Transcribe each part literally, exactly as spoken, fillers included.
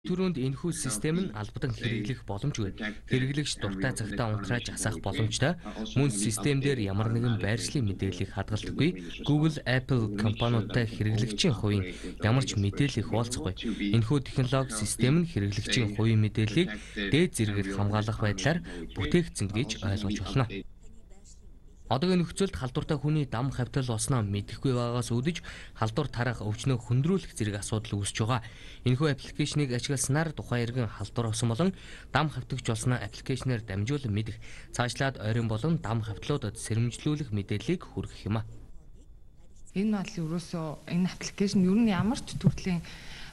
түрүүнд энэхүү систем нь албадан хэрэглэх боломжгүй. Хэрэглэгч дуртай цагтаа унтрааж асаах боломжтой. Мөн систем дээр ямар нэгэн байршлын мэдээллийг хадгалдаггүй. Google, Apple компаниудтай хэрэглэгчийн хувийн ямар ч мэдээлэл хуваалцахгүй. Энэхүү технологи систем нь хэрэглэгчийн хувийн мэдээллийг дээд зэрэгээр хамгаалах байдлаар бүтээгдсэн гэж ойлгож болно. Одоогийн нөхцөлд халдвартай хүний дам хавтал болсноо мэдэхгүй байгаагаас үүдэж халдвар тарах өвчнөө хөндрүүлэх зэрэг асуудал үүсэж байгаа. Энэхүү аппликейшнийг ашигласнаар тухайн иргэн халдвар болсон болон дам хавтагч болсноо аппликейшнээр дамжуулан мэдэх, цаашлаад ойрын болон дам хавтлуудад сэрэмжлүүлэх мэдээллийг хүргэх юм а. Энэ бол ерөөсөө энэ аппликейшн ер нь ямар ч төрлийн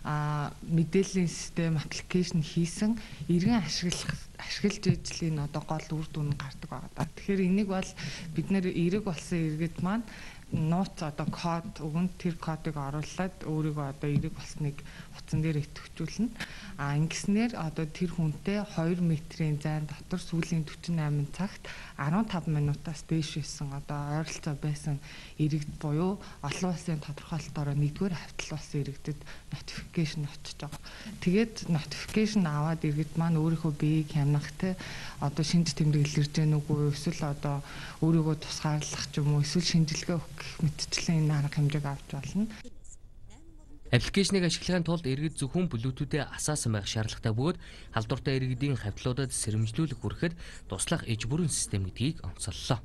а мэдээллийн систем аппликейшн хийсэн иргэн ашиглах ашиглаж ижлийн одоо гол үр дүн гардаг байгаа. Тэгэхээр энийг бол бид нэр эрэг болсон иргэд маань нууц одоо код өгөн тэр кодыг оруулаад өөрийгөө одоо эрэг болсныг утсан дээр идэвхжүүлнэ. А ингэснээр одоо тэр хүнтэй хоёр метрийн зайн дотор сүүлийн forty-eight цагт fifteen минутаас дээш байсан одоо ойролцоо байсан иргэд буюу олон улсын тодорхойлолтоор нэгдүгээр хавтал болсон иргэдэд notification очиж байгаа. Тэгээд notification аваад иргэд маань өөрийнхөө биеийг хянах те одоо шинж тэмдэг илэрж гэнэ үгүй эсвэл одоо өөрийгөө тусгаарлах ч юм уу эсвэл шинжилгээ өгөх гэх мэтчлэн энэ арга хэмжээг авч болно. Аппликейшнийг ашиглахын тулд иргэд зөвхөн Bluetooth-ээр асаасан байх шаардлагатай бөгөөд халдвартай иргэдийн хавтлуудад сэрэмжлүүлэх хүрэхэд туслах иж бүрэн систем гэдгийг онцоллоо.